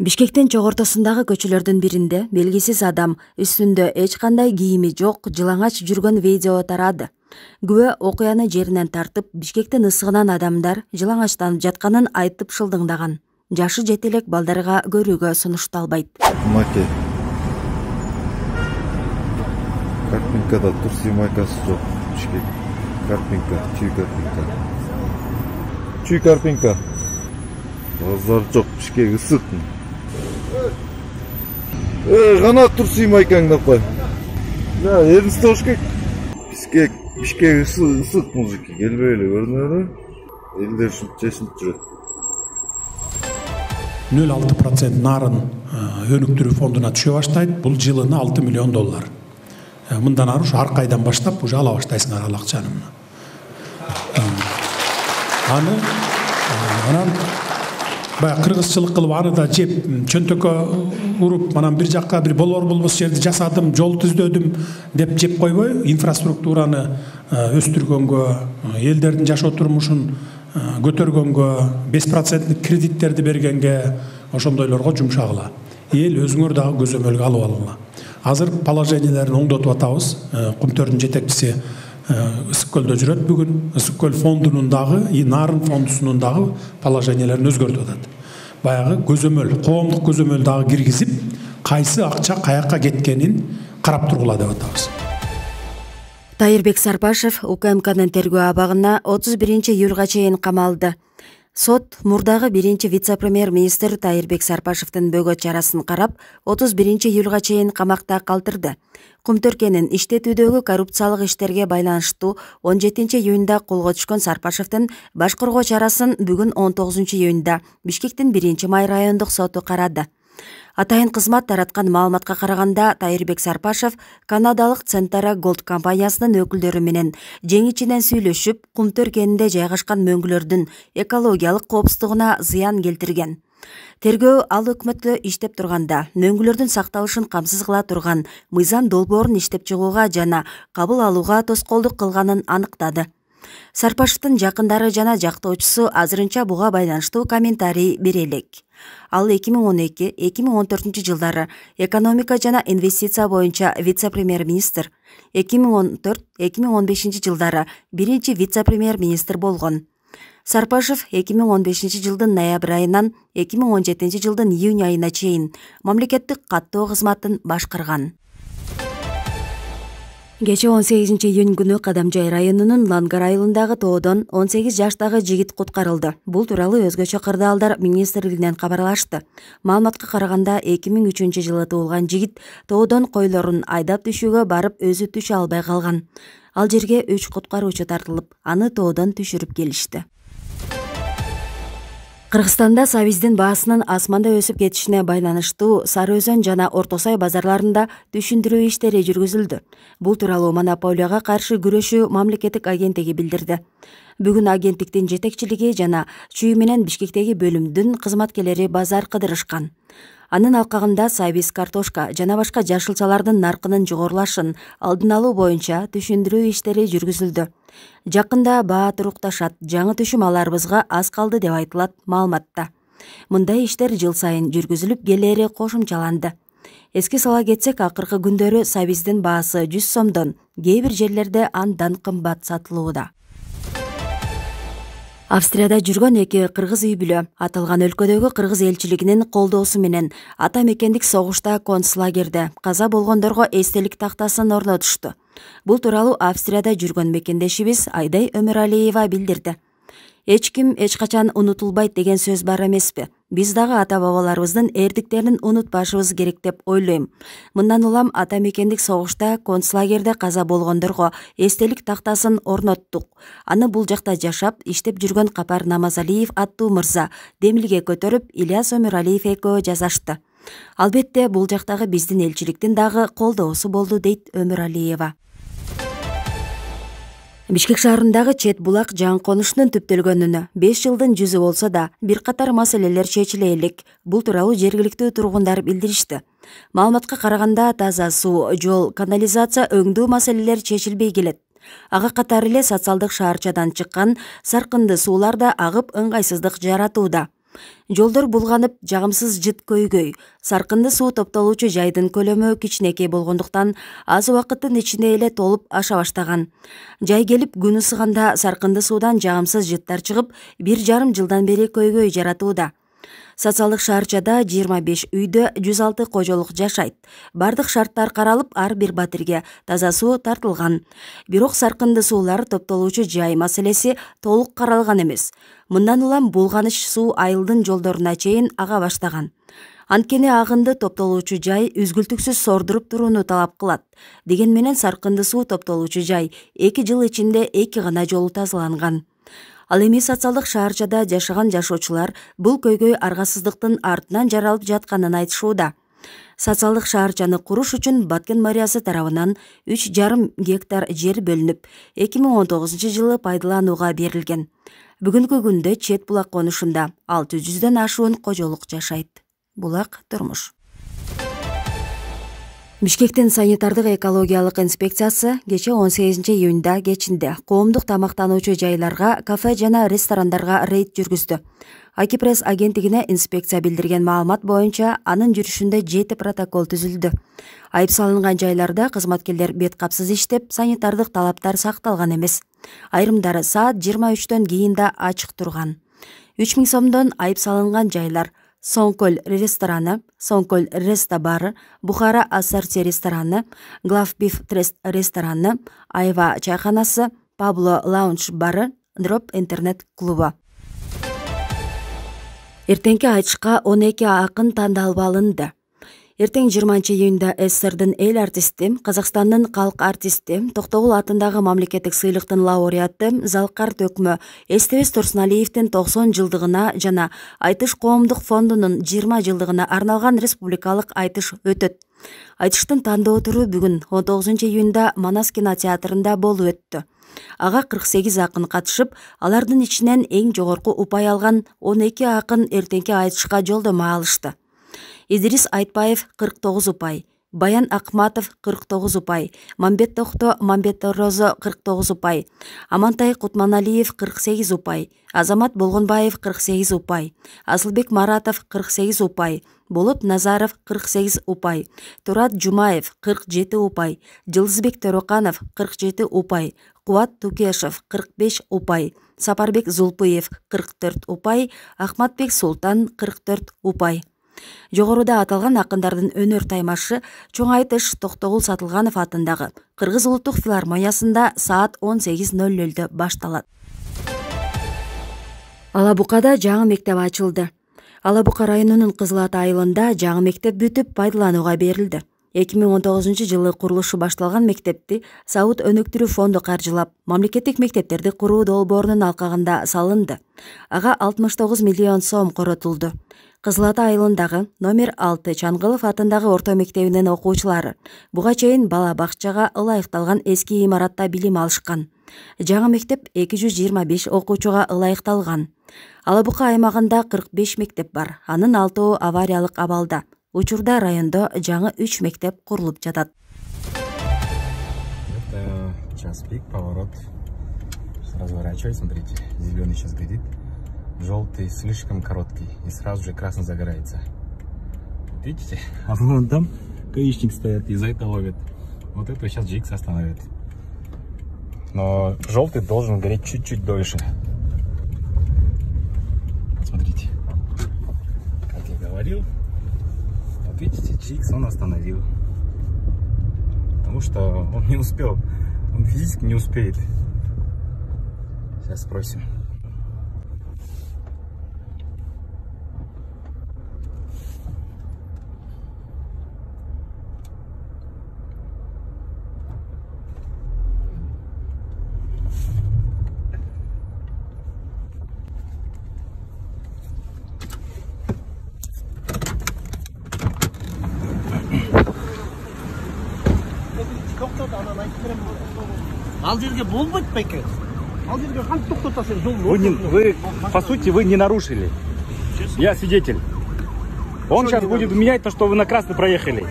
Бишкектин чогортосундагы көчөлөрдүн биринде белгисиз адам үстүндө эч кандай кийими жок жылаңач жүргөн видео тарады. Күбө окуяны жеринен тартып, Бишкектин ысыгынан адамдар жылаңачтанып жатканын айтып шылдыңдаган. Жашы жете элек балдарга көрүүгө сунушталбайт. Маке. Карпинкада турси майкасы жок. Бишкек. Карпинка, чүй карпинка. Чүй карпинка. Базар жок, Бишкек ысык. Гана турси майкаңды кой. Я, эринсте болуш керек. Бишкек ысык мужики, келбей эле көрүнөбү? Элдер ушинтип чечинип жүрөт. 0,6% нарын өнүктүрүү фондуна түшө баштайт. Бул жылына $6 миллион. Мындан ары ушу ар кайдан баштап уже ала баштайсыңар ал акчаны. Анан баягы кыргызчылык кылып аны да жеп, чөнтөккө уруп, анан бир жакка бир болбос жерди жасадым, жол түздөдүм деп жеп койбой, инфраструктураны өстүргөнгө, элдердин жашоо турмушун көтөргөнгө, 5% кредиттерди бергенге, ошондойлорго жумшагыла. Эл өзүңөр дагы көзөмөлгө алып алгыла. Азыр положенияларын оңдотуп атабыз. Кумтөрдүн жетекчиси Ысык көлдө жүрөт бүгүн. Ысык көл фондунун дагы, нарын фондусунун дагы положенияларын өзгөртүп атат. Баягы көзөмөл, коомдук көзөмөл дагы киргизип, кайсы акча каякка кеткенин карап тургула деп атабыз. Тайырбек Сарпашев УКМКнын тергөө абагына 31 июлга чейин камалды. Сот мурдагы биринчи вице-премьер-министр Тайырбек Сарпашевдин бөгөт чарасын карап, 31 июлга чейин камакта калтырды. Кумтөркенин иштетүүдөгү коррупциялык иштерге байланыштуу 17 июнда колго түшкөн Сарпашевдин баш коргоо чарасын бүгүн 19 июнда Бишкектин 1-май райондук соту карады. Атайын кызмат тараткан маалыматка караганда, Тайырбек Сарпашев канадалык Центара Голд компаниясынын өкүлдөрү менен жең-ичинен сүйлөшүп, Кумтөркенинде жайгашкан мөңгүлөрдүн экологиялык коопсуздугуна зыян келтирген. Тергөө ал өкмөттө иштеп турганда мөңгүлөрдүн сакталышын камсыз кыла турган мыйзам долбоорун иштеп чыгууга жана кабыл алууга тоскоолдук кылганын аныктады. Сарпашевдин жакындары жана жактоочусу азырынча буга байланыштуу комментарий бере элек. Ал 2012-2014 жылдары экономика жана инвестиция боюнча вице-премьер-министр, 2014-2015 жылдары биринчи вице-премьер-министр болгон. Сарпашев 2015 жылдын ноябрь айынан 2017 жылдын июнь айына чейин мамлекеттик каттоо кызматын башкарган. Кечээ 18 июнь күнү Кадамжай районунун Лангар айылындагы тоодон 18 жаштагы жигит куткарылды. Бул тууралуу өзгөчө кырдаалдар министрлигинен кабарлашты. Маалыматка караганда 2003 жылы туулган жигит тоодон койлорун айдап түшүүгө барып өзү түшө албай калган. Ал жерге 3 куткаруучу тартылып, аны тоодон түшүрүп келишти. Кыргызстанда сабиздин баасынын асманда өсүп кетишине байланыштуу Сары Өзөн жана Орто Сай базарларында түшүндүрүү иштери жүргүзүлдү. Бул тууралуу монополияга каршы күрөшүү мамлекеттик агенттиги билдирди. Бүгүн агенттиктин жетекчилиги жана Чүй менен Бишкектеги бөлүмдүн кызматкерлери базар кыдырышкан. Анын алкагында сабиз, картошка жана башка жашылчалардын наркынын жогорулашын алдын алуу боюнча түшүндүрүү иштери жүргүзүлдү. Жакында баа турукташат, жаңы түшүм аларыбызга аз калды деп айтылат маалыматта. Мындай иштер жыл сайын жүргүзүлүп келери кошумчаланды. Эске сала кетсек, акыркы күндөрү сабиздин баасы 100 сомдон, кээ бир жерлерде андан кымбат сатылууда. Австрияда жүргөн 2 кыргыз үй бүлө аталган өлкөдөгү кыргыз элчилигинин колдоосу менен ата мекендик согушта концлагерде каза болгондорго эстелик тактасын орнотушту. Бул тууралуу Австрияда жүргөн мекендешибиз Айдай Өмүралиева билдирди. Эч ким эч качан унутулбайт деген сөз бар эмеспи? Биз дагы ата-бабаларыбыздын эрдиктерин унутпашыбыз керек деп ойлойм. Мындан улам ата мекендик согушта концлагерде каза болгондорго эстелик тактасын орноттук. Аны бул жакта жашап, иштеп жүргөн Капар Намазалиев аттуу мырза демилге көтөрүп Ильяс Өмүралиев экөө жасашты. Албетте бул жактагы биздин элчиликтин дагы колдоосу болду, дейт Өмүралиева. Бишкек шаарындагы Чет булак жаңы конушунун түптөлгөнүнө 5 жылдын жүзү болсо да, бир катар маселелер чечиле элек. Бул тууралуу жергиликтүү тургундар билдиришти. Маалыматка караганда таза суу, жол, канализация өңдүү маселелер чечилбей келет. Ага катары эле социалдык шаарчадан чыккан саркынды суулар да агып ыңгайсыздык жаратууда. Жолдор булганып, жагымсыз жыт көйгөй. Саркынды суу топтолуучу жайдын көлөмү кичинекей болгондуктан аз убакыттын ичинде эле толуп аша баштаган. Жай келип күн ысыганда саркынды суудан жагымсыз жыттар чыгып, 1,5 жылдан бери көйгөй жаратууда. Социалдык шаарчада 25 үйдө 106 кожолук жашайт. Бардык шарттар каралып, ар бир батирге таза суу тартылган. Бирок саркынды суулар топтолуучу жай маселеси толук каралган эмес. Мындан улам булганыч суу айылдын жолдоруна чейин ага баштаган. Анткени агынды топтолуучу жай үзгүлтүксүз сордуруп турууну талап кылат. Деген менен саркынды суу топтолуучу жай 2 жыл ичинде 2 гана жолу тазаланган. Ал эми социалдык шаарчада жашаган жашоочулар бул көйгөй аргасыздыктын артынан жаралып жатканын айтышууда. Социалдык шаарчаны куруш үчүн Баткен мэриясы тарабынан 3,5 гектар жер бөлүнүп, 2019-жылы пайдаланууга берилген. Бүгүнкү күндө Чет булак конушунда 600дөн ашуун кожолук жашайт. Булак турмуш. Бишкектин санитардык экологиялык инспекциясы кече 18-июнда кечинде коомдук тамактануучу жайларга, кафе жана ресторандарга рейд жүргүздү. Акипресс агенттигине инспекция билдирген маалымат боюнча анын жүрүшүндө 7 протокол түзүлдү. Айып салынган жайларда кызматкерлер бет капсыз иштеп, санитардык талаптар сакталган эмес. Айрымдары саат 23төн кийин да ачык турган. 3000 сомдон айып салынган жайлар: Сонкөл рестораны, Сонкөл Реста бары, Бухара Ассорти рестораны, Главбиф Трест рестораны, Айва чайканасы, Пабло Лаунж бары, Дроп интернет клубу. Эртеңки айтышка 12 акын тандалып алынды. Эртең 20-июнда СССРдин эл артисти, Казакстандын калк артисти, Токтогул атындагы мамлекеттик сыйлыктын лауреаты Залкар Төкмө Эстебес Турсуналиевдин 90 жылдыгына жана Айтыш коомдук фондунун 20 жылдыгына арналган республикалык айтыш өтөт. Айтыштын тандоо туру бүгүн 19-июнда Манас кинотеатрында болуп өттү. Ага 48 акын катышып, алардын ичинен эң жогорку упай алган 12 акын эртеңки айтышка жолдомо алышты. Идрис Айтбаев 49 упай, Баян Акматов 49 упай, Мамбет Тохто Розо 49 упай, Амантай Кутманалиев 48 упай, Азамат Болгонбаев 48 упай, Асылбек Маратов 48 упай, Болот Назаров 48 упай, Турат Жумаев 47 упай, Жылдызбек Төрөканов 47 упай, Кубат Тукешев 45 упай, Сапарбек Зулпуев 44 упай, Ахматбек Султан 44 упай. Жогоруда аталган акындардын өнөр таймашы чоң айтыш Токтогул Сатылганов атындагы Кыргыз улуттук филармониясында саат 18:00 башталат. Алабукада жаңы мектеп ачылды. Алабука районунун Кызыл Ата айылында жаңы мектеп бүтүп пайдаланууга берилди. 2019-жылы курулушу башталган мектепти Сауд өнөктүрүү фонду каржылап, мамлекеттик мектептерди куруу долбоорунун алкагында салынды. Ага 69 миллион сом коротулду. Кызыл Ата айылындагы номер 6 Чаңгылов атындагы орто мектебинин окуучулары буга чейин бала бакчага ылайыкталган эски имаратта билим алышкан. Жаңы мектеп 225 окуучуга ылайыкталган. Алабука аймагында 45 мектеп бар. Анын 6 авариялык абалда. Учурда райондо жаңы 3 мектеп курулуп жатат. Это час пик, поворот. Разворачивай, смотрите. Зеленый сейчас горит. Желтый слишком короткий. И сразу же красный загорается. Видите? А вон там гаишник стоят и за это ловят. Вот это сейчас Джикс остановит. Но желтый должен гореть чуть-чуть дольше. Смотрите. Как я говорил. Вот видите, Чикс он остановил. Потому что он не успел. Он физически не успеет. Сейчас спросим. Ал жерге болбойт байке. Ал жерге кантип токтотасың? Вы, по сути, вы не нарушили. Я свидетель. Он сейчас будет менять то, что вы на красный проехали.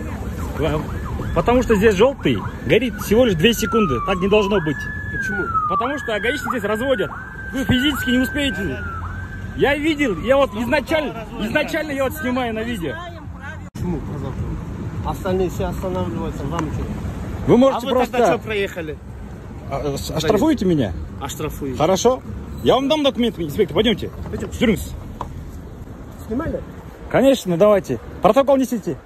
Потому что здесь желтый горит всего лишь 2 секунды. Так не должно быть. Почему? Потому что гаишники здесь разводят. Вы физически не успеете. Я видел, я вот изначально я вот снимаю на видео. Почему? Остальные все останавливаются, вам что? Вы можете А вы тогда что просто... проехали? Оштрафуете меня? Оштрафуете. Хорошо. Я вам дам документы, инспектор, пойдемте. Пойдемте. Жүріңіз. Снимали? Конечно, давайте. Протокол несите.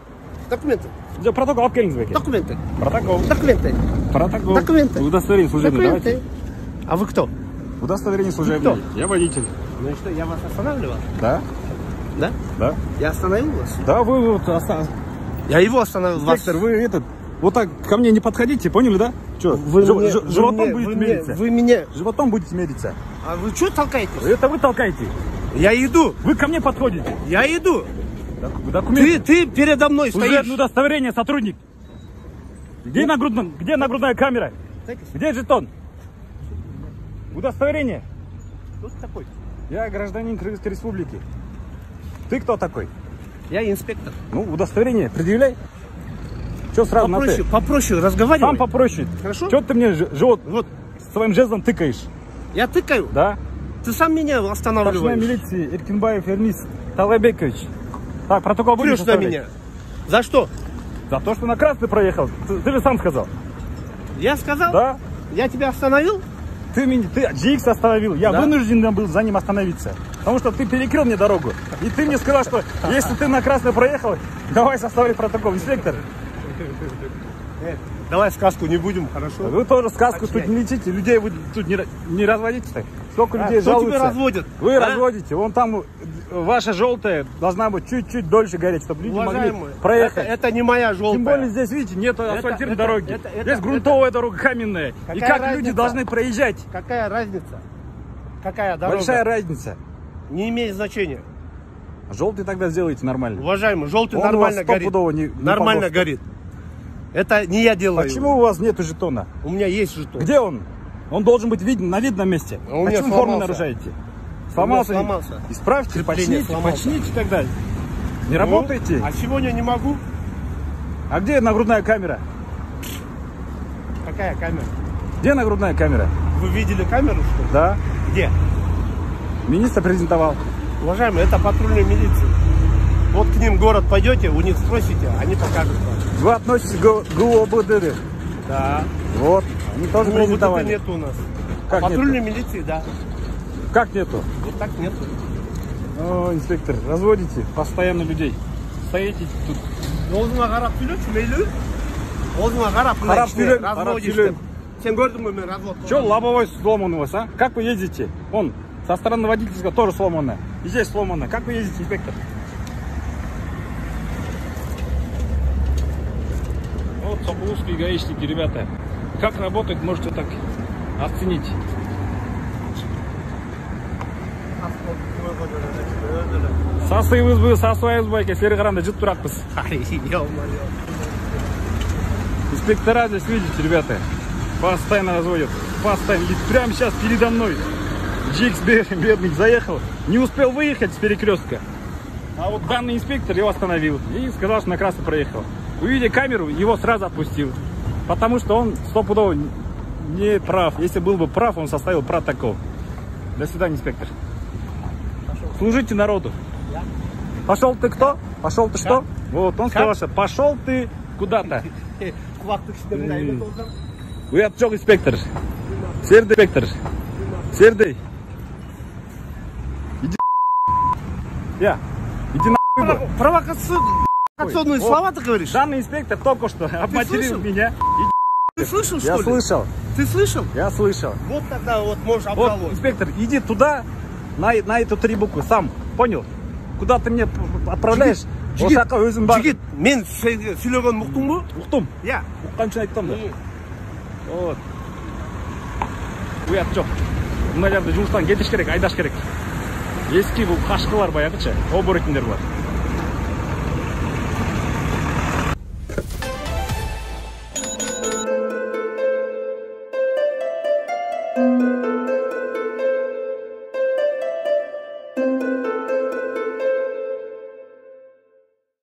Документы. Протокол алып келіңіз бәке. Документы. Протокол. Документы. Протокол. Документы. Удостоверение служебное давайте. А вы кто? Удостоверение служебное. Я водитель. Ну и что, я вас останавливал? Да? Да? Да. Я остановил вас? Да, вы вот... Я его остановил. Инспектор, вы этот... Вот так ко мне не подходите, поняли, да? Что, животом будете мериться? Вы меня... Животом будете мериться. А вы что толкаетесь? Это вы толкаете. Я иду. Вы ко мне подходите. Я иду. Документы. Ты передо мной Служебное стоишь. удостоверение, сотрудник. Где нагрудная камера? Где жетон? Удостоверение. Кто ты такой? Я гражданин Кыргызской республики. Ты кто такой? Я инспектор. Ну, удостоверение предъявляй. Что сразу Попроще, на ты? попроще разговаривай. Сам попроще. Хорошо? Что ты мне живот вот своим жезлом тыкаешь? Я тыкаю? Да. Ты сам меня Старшина останавливаешь. милиции Эркинбаев Эрмис Талайбекович. Так, протокол будешь Плюс на составлять? меня. За что? За то, что на красный проехал. Ты же сам сказал. Я сказал? Да. Я тебя остановил? Ты GX остановил. Я Да? вынужден был за ним остановиться. Потому что ты перекрыл мне дорогу. И ты мне сказал, что если ты на красный проехал, давай составить протокол. Инспектор, Давай сказку не будем, хорошо? вы тоже сказку Отчай. тут не лечите. Людей вы тут не разводите так. Сколько людей Кто жалуются. тебя разводит? Вы А? разводите. Вон там ваша желтая должна быть чуть-чуть дольше гореть, чтобы люди Уважаемый, могли проехать. это не моя желтая. Тем более здесь, видите, нет асфальтированной дороги. Здесь грунтовая дорога каменная. И Какая как люди разница? должны проезжать? Какая разница? Какая дорога? Большая разница. Не имеет значения. Желтый тогда сделайте нормально. Уважаемый, желтый Он нормально у вас горит. стопудово не Нормально погост. горит. Это не я делаю. Почему у вас нету жетона? У меня есть жетон. Где он? Он должен быть виден на видном месте. А у меня Почему форму сломался. нарушаете? Сломался? сломался. Исправьте, Крепление почините, сломался. почините тогда. Не Ну, работаете? А сегодня не могу. А где нагрудная камера? Какая камера? Где нагрудная камера? Вы видели камеру, что ли? Да. Где? Министр презентовал. Уважаемый, это патрульная милиция. Вот к ним в город пойдете, у них спросите, они покажут вам. Вы относитесь к ГУОБДД? Да. Вот. Они тоже Вот это презентовали. нет у нас. Как Патрульной милиции, да. Как нету? Вот так нету. О, инспектор, разводите постоянно людей. Стоите тут. Оозуңа карап сүйлөчү мейлі? Оозуңа карап Карап сүйлөң, карап разводишь сүйлөң. деп. Сен көрдүң мө мен развод? Че лобовой сломан у вас, а? Как вы ездите? Вон, со стороны водительского тоже сломано. И здесь сломано. Как вы ездите, инспектор? Вот сокуловские гаишники, ребята. Как работают, можете так оценить. Сасыйбызбы, сасыбайбызбы, сери каранда жыт туракпыз. Инспектора здесь, видите, ребята, постоянно разводят. Постоянно. И прямо сейчас передо мной GX бедный заехал, не успел выехать с перекрестка. А вот данный инспектор его остановил и сказал, что на красный проехал. Увидя камеру, его сразу отпустил. Потому что он стопудово не прав. Если был бы прав, он составил протокол. До свидания, инспектор. Служите народу. Пошел ты кто? Пошел ты что? Вот, он сказал, что пошел ты куда-то. Вы отчет, инспектор. Сердый инспектор. Сердый. Иди. Я. Иди на. Провокационные слова ты говоришь? Данный инспектор только что обматерил меня. Ты слышал, что Я ли? слышал. Ты слышал? Я слышал. Вот тогда вот можешь Вот, обжаловать. инспектор, иди туда, на эту 3 буквы, сам. Понял? Куда ты меня отправляешь? Жигит, мен сүйлөгөн уктуңбу? Уктум. Я. Укканча айттым да. Вот. Уят жок. Мыналарды жумуштан кетиш керек, айдаш керек. Эски бул кашкылар баягычы, оборотниндер бар.